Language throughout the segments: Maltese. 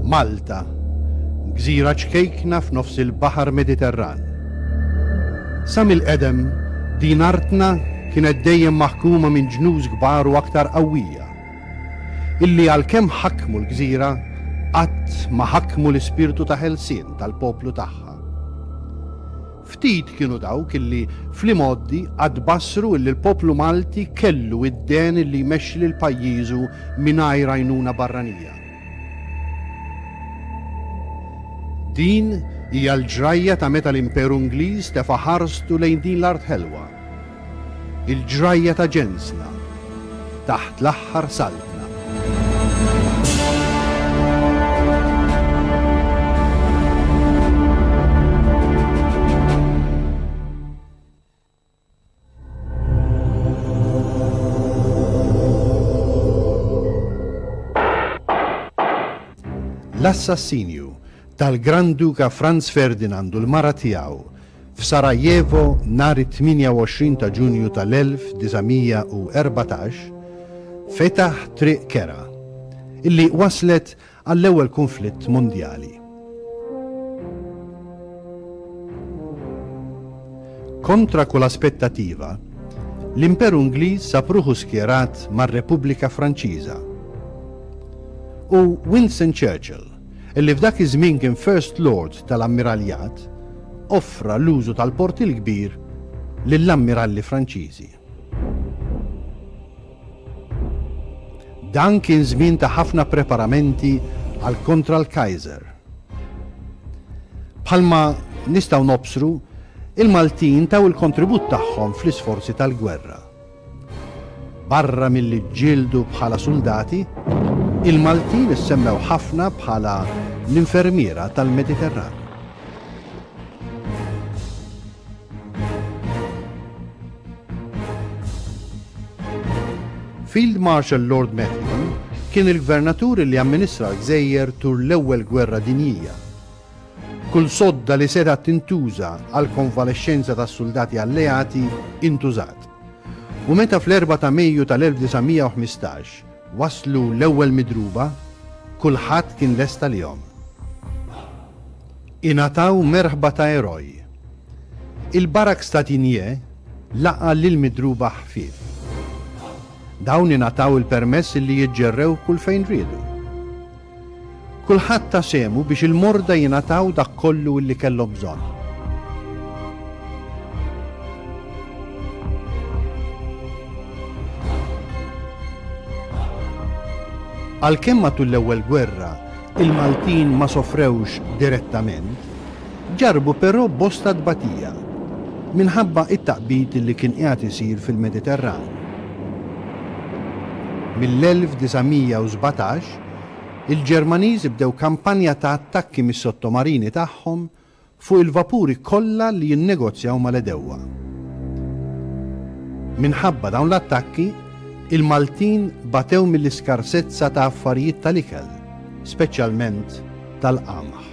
Malta, gżira ċkejkna f'nofs il-Baħar Mediterran. Sa mill-qedem, din artna kienet dejjem maħkuma minn ġnus kbar u aktar qawwija, illi għalkemm ħakmu l-gżira, qatt ma ħakmu l-ispirtu ta' ħelsien tal-poplu tagħha. Ftit kienu dawk illi fl-imgħoddi qatt bassru illi l-poplu Malti kellu id-dehen illi jmexxi lil pajjiżu mingħajr għajnuna barranija. Din hija l-ġrajja ta' meta l-Imperu Ingliż tefa' ħarstu lejn din l-art ħelwa. Il-ġrajja ta' ġensna taħt l-aħħar saltna. L-assassinju tal-Gran Duka Franz Ferdinand u l-mara tiegħu F'Sarajevo nhar it-28 ta' Ġunju tal-1914 fetaħ triq kerha illi wasslet għall-ewwel kunflitt mondjali. Kontra kull aspettativa, l-Imperu Ingliż sab ruħu skjerat mar-Repubblika Franċiża. U Winston Churchill, illi f'dak iż-żmien kien First Lord tal-Ammiraljat, offra l-użu tal-Port il-Kbir lill-ammiralli Franċiżi. Dan kien żmien ta' ħafna preparamenti għal kontra l-Kaiser. Bħalma nistgħu nobsru, il-Maltin taw il-kontribut tagħhom fl-isforzi tal-gwerra. Barra milli ġġieldu bħala suldati, il-Maltin issemmew ħafna bħala l-infermiera tal-Mediterran. Field Marshal Lord Methuen kien il-gvernatur li amministra l-gżejjer tul l-Ewwel Gwerra Dinjija. Kull sodda li setgħet tintuża għall-konvalexxenza tas-suldati alleati intużat. U meta fl-4 ta' Mejju tal-1915 waslu l-ewwel midruba, kulħadd kien lest għalihom. Ingħataw merħba ta' eroj. Il-Barracks ta' Tigné laqa' lill-midruba ħfief. Dawn ingħataw il-permess li jiġġerrew kull fejn riedu. Kulħadd ta sehmu biex il-morda jingħataw dak kollu illi kellhom bżonn. Għalkemm matul l-ewwel gwerra il-Maltin ma sofrewx direttament, ġarrbu però bosta tbatija minħabba t-taqbid li kien qiegħed isir fil-Mediterran. Mill-1917, il-Ġermaniżi bdew kampanja ta' attakki mis-sottomarini tagħhom fuq il-vapuri kollha li jinnegozjaw mal-għedewwa. Minħabba dawn l-attakki, il-Maltin batew mill-iskarsezza ta' affarijiet tal-ikel, speċjalment tal-qamħ.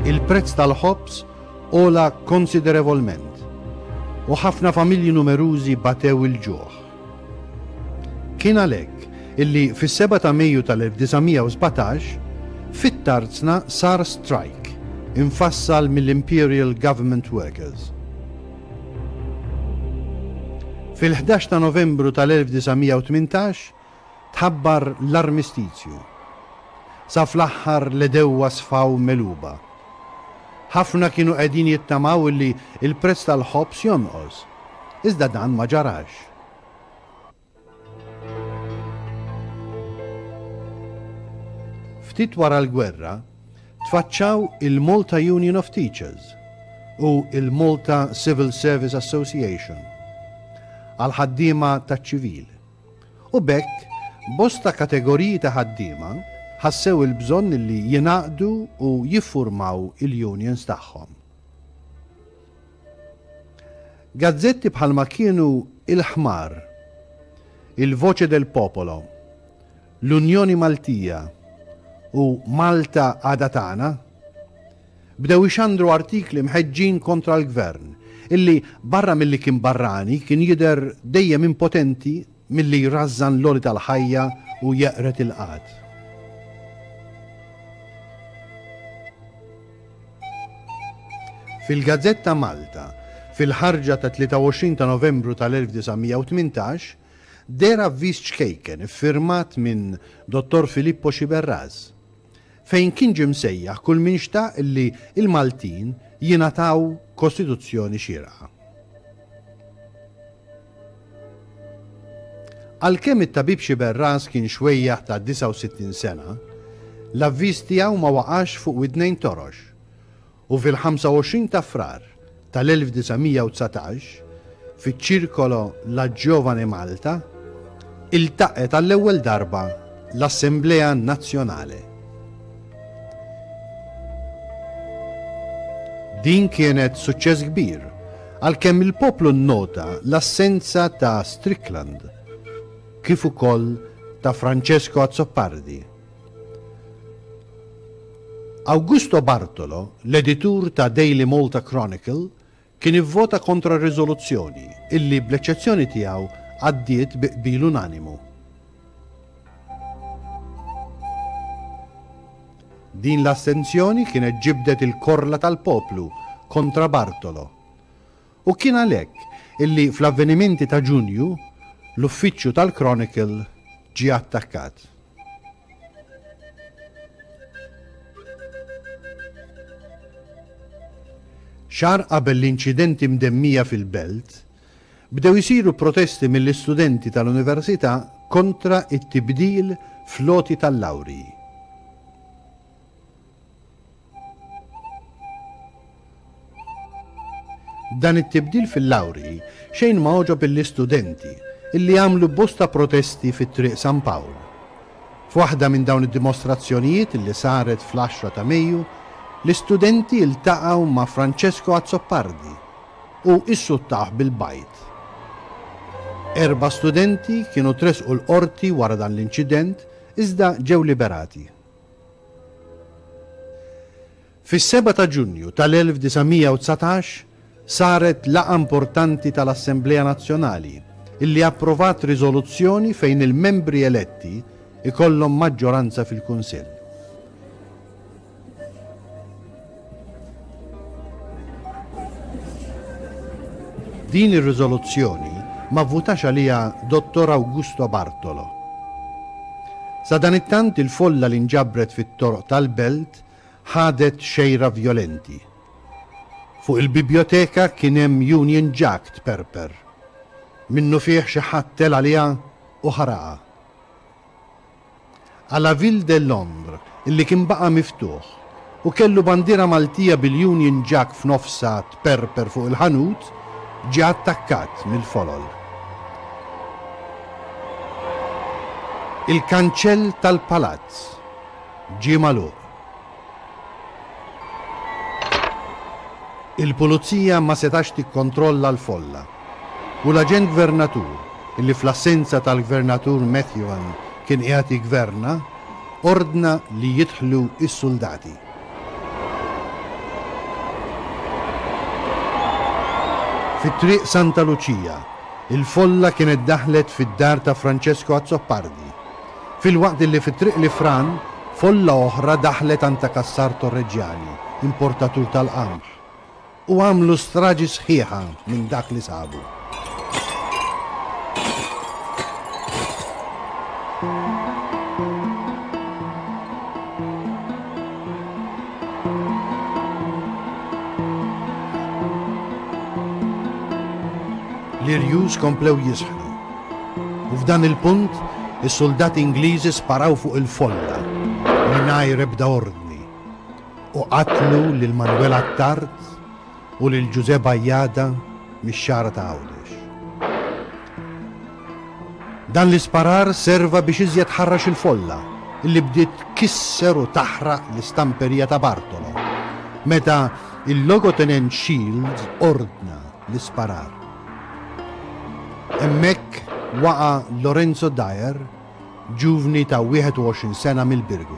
Il-prezz tal-ħobż għola konsiderevolment u ħafna familji numerużi batew il-ġuħ. Kien għalhekk illi fis-7 ta' Mejju tal-1917 fit-tarzna sar strajk imfassal mill-Imperial Government Workers. Fil-11 ta' Novembru tal-1918 tħabbar l-armistizju. Sa fl-aħħar l-għedewwa sfaw megħluba. Ħafna kienu qegħdin jittamaw illi l-prezz tal-ħobż jonqos, iżda dan ma ġarax. Ftit wara l-gwerra, tfaċċaw il-Malta Union of Teachers u l-Malta Civil Service Association għall-ħaddiema taċ-ċivil. U b'hekk bosta kategoriji ta' ħaddiema ħassew il-bżonn li jingħaqdu u jiffurmaw il-unions tagħhom. Gazzetti bħalma kienu Il-Ħmar, Il Voce del Popolo, L-Unjoni Maltija u Malta Għada Tagħna. bdew ixandru artikli mħeġġin kontra l-Gvern, illi barra milli kien barrani kien jidher dejjem impotenti milli jrażżan l-għoli tal-ħajja u jeqred il-qgħad. Fil-Gazzetta Malta, fil-ħarġa tat-23 ta' Novembru tal-1918, deher avviż ċkejken iffirmat minn Dottor Filippo Sciberras, fejn kien ġie msejjaħ kull min xtaq li l-Maltin jingħataw Kostituzzjoni xierqa. Għalkemm it-tabib Sciberras kien xwejjaħ ta' 69 sena, l-avviż tiegħu ma waqax fuq widnejn torox u fil-25 ta' Frar tal-1919, fiċ-Circolo La Giovane Malta, iltaqgħet għall-ewwel darba l-Assemblea Nazzjonale. Din kienet suċċess kbir, għalkemm il-poplu nnota l-assenza ta' Strickland, kif ukoll ta' Francesco Azzopardi. Augusto Bartolo, l-editur ta' Daily Malta Chronicle, kien ivvota kontra r-riżoluzzjoni, illi bl-eċċezzjoni tiegħu għaddiet bi qbil unanimu. Din l-astenzjoni kienet ġibdet il-korla tal-poplu kontra Bartolo. U kien għalhekk illi fl-avvenimenti ta' Ġunju, l-uffiċċju tal-Chronicle ġie attakkat. Xahar qabel l-inċidenti mdemmija fil-Belt, bdew isiru protesti mill-istudenti tal-Università kontra t-tibdil fl-għoti tal-lawrji. Dan it-tibdil fil-lawrji xejn ma għoġob lill-istudenti illi għamlu bosta protesti fi Triq San Pawl. F'waħda minn dawn id-dimostrazzjonijiet illi saret fl-għaxra ta' Mejju, l-istudenti ltaqgħu ma' Francesco Azzopardi u issuttawh bil-bajd. Erba' studenti kienu tressqu l-Qorti wara dan l-inċident iżda ġew liberati. Fis-sebgħa ta' Ġunju tal-1919 saret laqgħa importanti tal-Assemblea Nazzjonali illi approvat riżoluzzjoni fejn il-membri eletti jkollhom maġġoranza fil-Kunsill. Din ir-riżoluzzjoni ma vvutax għaliha Dottor Augusto Bartolo. Sadanittant il-folla li nġabret fit-toroq tal-belt ħadet xejra vjolenti. Fuq il-bibjoteka kien hemm Union Jack tperper. Minnufih xi ħadd tela' għaliha u ħaraqha. A la Ville de Londres illi kien baqa' miftuħ u kellu bandiera Maltija bil-Union Jack f'nofsha tperper fuq il-ħanut, ġie attakkat mill-folol. Il-kanċell tal-palazz ġie magħluq. Il-pulizija ma setax tikkontrolla l-folla u l-aġent gvernatur, illi fl-assenza tal-Gvernatur Methuen kien qiegħed jiggverna, ordna li jidħlu s-suldati. Fi Triq Santa Luċija, il-folla kienet daħlet fid-dar ta' Francesco Azzopardi, filwaqt illi fi Triq l-Ifran folla oħra daħlet għand ta' Cassar Torregiani, importatur tal-qamħ, u għamlu straġi sħiħa minn dak li sabu. L-irjus komplew jisħnu. U f'dan il-punt, is-suldati Ingliżi sparaw fuq il-folla mingħajr ebda ordni u qatlu lil Manuel Attard u lil Ġużè Bajada mix-Xagħra ta' Għawdex. Dan l-isparar serva biex iżjed ħarrax il-folla illi bdiet tkisser u taħraq l-istamperija ta' Bartolo meta il-Logotenent Shields ordna l-isparar. Hemmhekk waqa' Lorenzo Dyer, ġuvni ta' 21 sena mill-Birgu.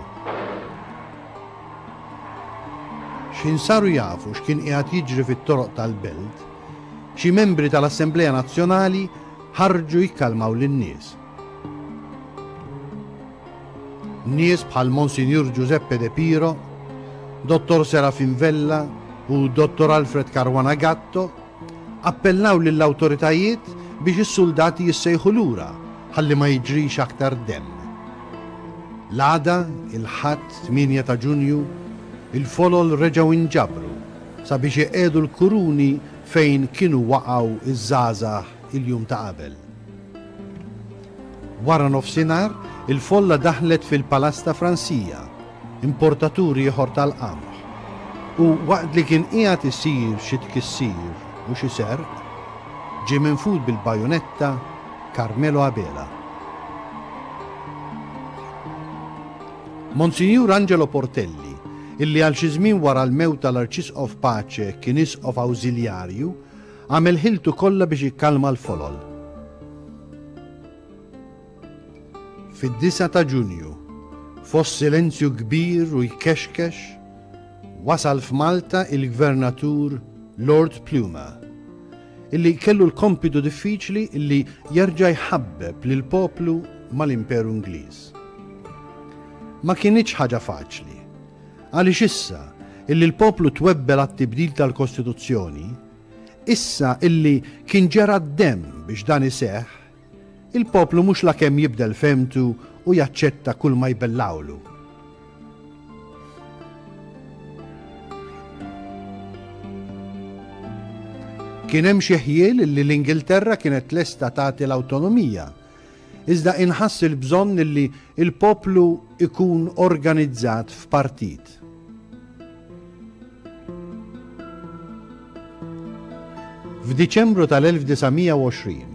X'ħin saru jafu x'kien qiegħed jiġri fit-toroq tal-belt, xi membri tal-Assemblea Nazzjonali ħarġu jikkalmaw lin-nies. Nies bħal Monsinjur Giuseppe De Piro, Dottor Serafin Vella u Dottor Alfred Caruana Gatto appellaw lill-awtoritajiet biex is-suldati jissejħu lura ħalli ma jiġrix aktar demm. L-għada, il-Ħadd 8 ta' Ġunju, il-folol reġgħu inġabru sabiex iqiegħdu l-kuruni fejn kienu waqgħu ż-żgħażagħ il-jum ta' qabel. Wara nofsinhar, il-folla daħlet fil-Palazz ta' Fransija, importatur ieħor tal-qamħ, u waqt li kien qiegħed isir xi tkissir u xi serq, ġie minfud bil-bajunetta Carmelo Abela. Monsinjur Angelo Portelli, illi għal xi żmien wara l-mewt tal-Arċisqof Pace kien isqof awżiljarju, Għamel ħiltu kollha biex jikkalma l-folol. Fid-9 ta' Ġunju, fost silenzju kbir u jkexkex, wasal f'Malta il-Gvernatur Lord Plumer, illi kellu l-kompitu diffiċli illi jerġa' jħabbeb lill-poplu mal-Imperu Ingliż. Ma kinitx ħaġa faċli, Għaliex issa illi l-poplu twebbel għat-tibdil tal-Kostituzzjoni, issa illi kien ġera d-demm biex dan iseħħ, il-poplu mhux lakemm jibdel fehmtu u jaċċetta kull ma jbellgħulu. Kien hemm xi ħjiel illi l-Ingilterra kienet lesta tagħti l-awtonomija Iżda inħass il-bżonn illi l-poplu ikun organizzat f'partit. F'Diċembru tal-1920,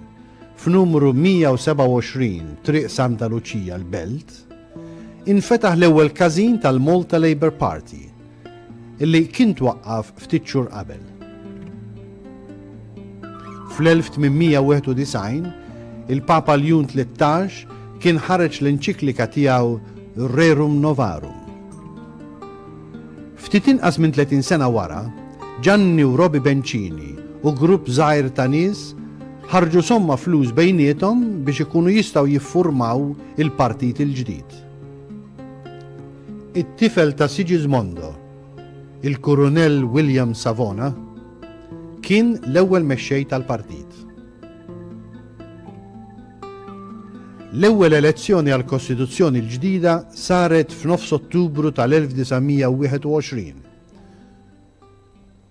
f'numru 127 Triq Santa Luċija l-Belt, infetaħ l-ewwel każin tal-Malta Labour Party, li kien twaqqaf ftit xhur qabel. Fl-1891, il-Papa Ljun 13 kien ħareġ l-enċiklika tiegħu Rerum Novarum. Ftit inqas minn 30 sena wara, Ġanni u Robi Bencini u grupp żgħir ta' nies ħarġu somma flus bejniethom biex ikunu jistgħu jiffurmaw il-partit il-ġdid. It-tifel ta' Sigismondo, il-Kurunell William Savona, kien l-ewwel mexxej tal-partit. L-ewwel elezzjoni għall-Kostituzzjoni l-ġdida saret f'nofs Ottubru tal-1921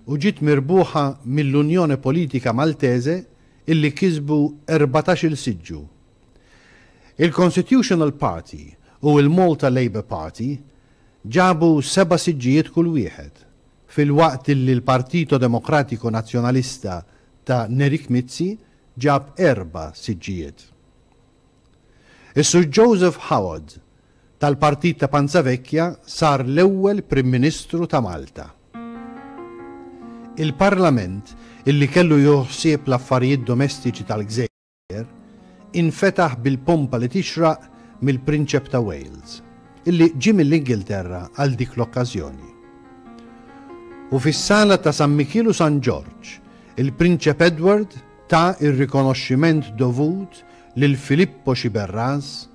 u ġiet mirbuħa mill-Unione Politica Maltese illi kisbu 14-il siġġu. Il-Constitutional Party u l-Malta Labour Party ġabu seba' siġġijiet kull wieħed, filwaqt illi l-Partito Democratico Nazionalista ta' Nerik Mizzi ġab erba' siġġijiet. Is-Sur Joseph Howard tal-Partit ta' Panzavecchia sar l-ewwel Prim Ministru ta' Malta. Il-Parlament, illi kellu jieħu ħsieb l-affarijiet domestiċi tal-gżejjer, infetaħ bil-pompa li tixraq mill-Prinċep ta' Wales, illi ġie mill-Ingilterra għal dik l-okkażjoni. U fis-sala ta' San Mikiel u San Ġorġ, il-Prinċep Edward ta r-rikonoxximent dovut lil Filippo Sciberras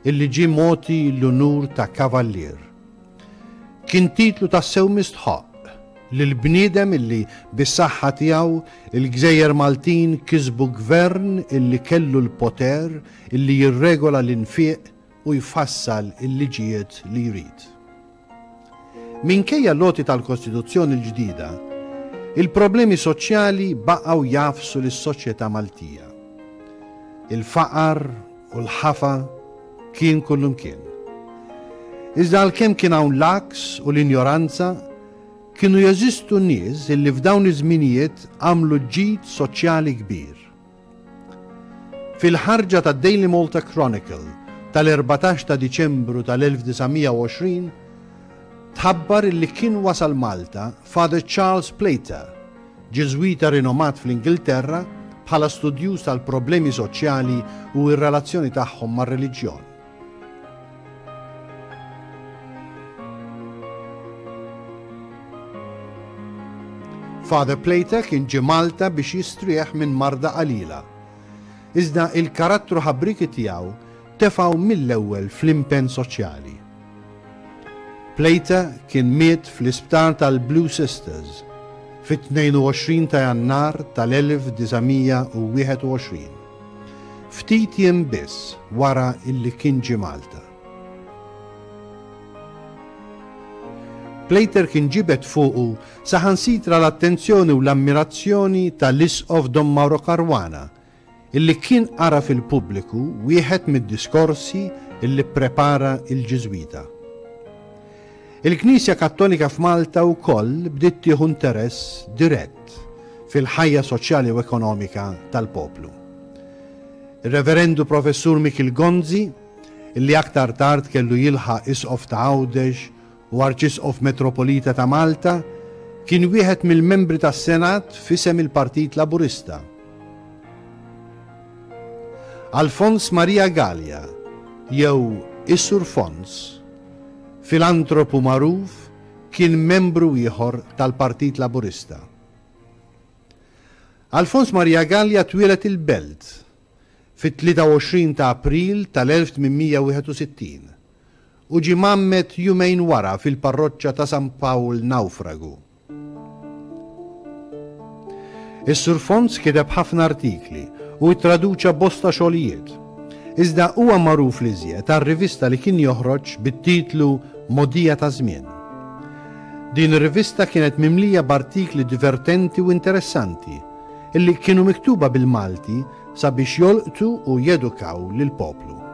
illi ġie mogħti l-unur ta' Kavallier. Kien titlu tassew mistħoqq lil bniedem illi bis-saħħa tiegħu il-gżejjer Maltin kisbu gvern illi kellu l-poter illi jirregola l-infiq u jfassal il-liġijiet li jrid. Minkejja l-għoti tal-Kostituzzjoni l-ġdida, il-problemi soċjali baqgħu jagħfsu lis-soċjetà Maltija. Il-faqar u l-ħafa kien kullumkien. Iżda għalkemm kien hawn l-għaks u l-injoranza, kienu jeżistu nies illi f'dawn iż-żminijiet għamlu ġid soċjali kbir. Fil-ħarġa tad-Daily Malta Chronicle tal-14 ta' Diċembru tal-1920, tħabbar illi kien wasal Malta Father Charles Plater, Ġiżwita rinomat fl-Ingilterra bħala studjuż tal-problemi soċjali u r-relazzjoni tagħhom mar-reliġjon. Father Plater kien ġie Malta biex jistrieħ minn marda qalila. Iżda il-karattru ħabrieki tiegħu tefgħu mill-ewwel fl-impenn soċjali. Plater kien miet fl-isptar tal-Blue Sisters fit-22 ta' Jannar tal-1921, ftit jiem biss wara illi kien ġie Malta. Plater kien ġibed fuqu saħansitra l-attenzjoni u l-ammirazzjoni ta' l-Isqof Dom Mauro Caruana, illi kien qara fil-pubbliku wieħed mid-diskorsi illi pprepara l-Ġiżwita. Il-Knisja Kattolika f'Malta wkoll bdiet tieħu interess dirett fil-ħajja soċjali u ekonomika tal-poplu. Ir-Reverendu Professur Mikiel Gonzi, illi aktar tard kellu jilħaq Isqof ta' Għawdex u Arċisqof Metropolita ta' Malta, kien wieħed mill-membri tas-Senat f'isem il-Partit Laburista. Alfons Maria Galea, jew is-Sur Fons, filantropu magħruf, kien membru ieħor tal-Partit Laburista. Alfons Maria Galea twieled il-Belt fit-23 ta' April tal-1861 u ġie mgħammed jumejn wara fil-parroċċa ta' San Pawl Nawfragu. Is-Sur Fons kiteb ħafna artikli u ttraduċa bosta xogħlijiet. Iżda huwa magħruf l-iżjed għar-rivista li kien joħroġ bit-titlu Mogħdija taż-Żmien. Din ir-rivista kienet mimlija b'artikli divertenti u interessanti illi kienu miktuba bil-Malti sabiex jolqtu u jedukaw lill-poplu.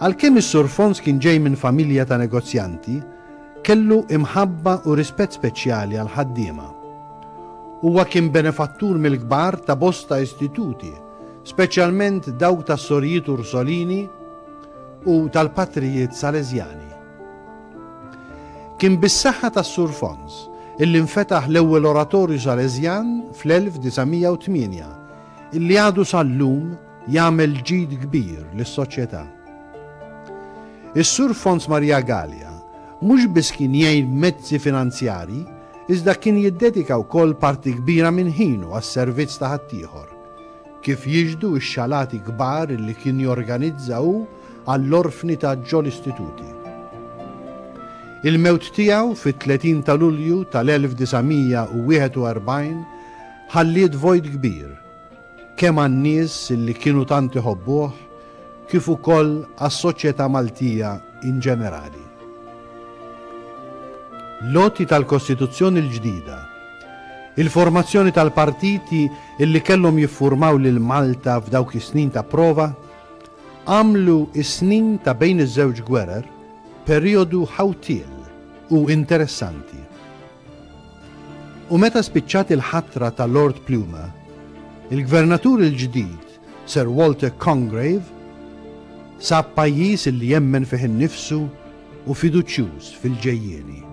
Għalkemm is-Sur Fons kien ġej minn familja ta' negozjanti, kellu imħabba u rispett speċjali għall-ħaddiema. Huwa kien benefattur mill-kbar ta' bosta istituti, speċjalment dawk tas-Sorijiet Ursolini u tal-Patrijiet Salesjani. Kien bis-saħħa tas-Sur Fons illi nfetaħ l-ewwel oratorju Salesjan fl-1908 illi għadu sal-lum jagħmel ġid kbir lis-soċjetà. Is-Sur Fons Maria Galea mhux biss kien jgħin b'mezzi finanzjarji iżda kien jiddedika wkoll parti kbira minn ħinu għas-servizz ta' ħaddieħor, kif jixhdu x-xalati kbar illi kien jorganizza hu għall-orfni ta' ġol-istituti. Il-mewt tiegħu fit-30 ta' Lulju tal-1941 ħalliet vojt kbir, kemm għan-nies li kienu tant iħobbuh kif ukoll għas-soċjetà Maltija in ġenerali. L-għoti tal-Kostituzzjoni l-ġdida, il-formazzjoni tal-partiti illi kellhom jiffurmaw lil Malta f'dawk is-snin ta' prova, għamlu s-snin ta' bejn iż-żewġ gwerer perijodu ħawtiel u interessanti. U meta spiċċat il-ħatra ta' Lord Plumer, il-Gvernatur il-ġdid Sir Walter Congreve sab pajjiż li jemmen fih innifsu u fiduċjuż fil-ġejjieni.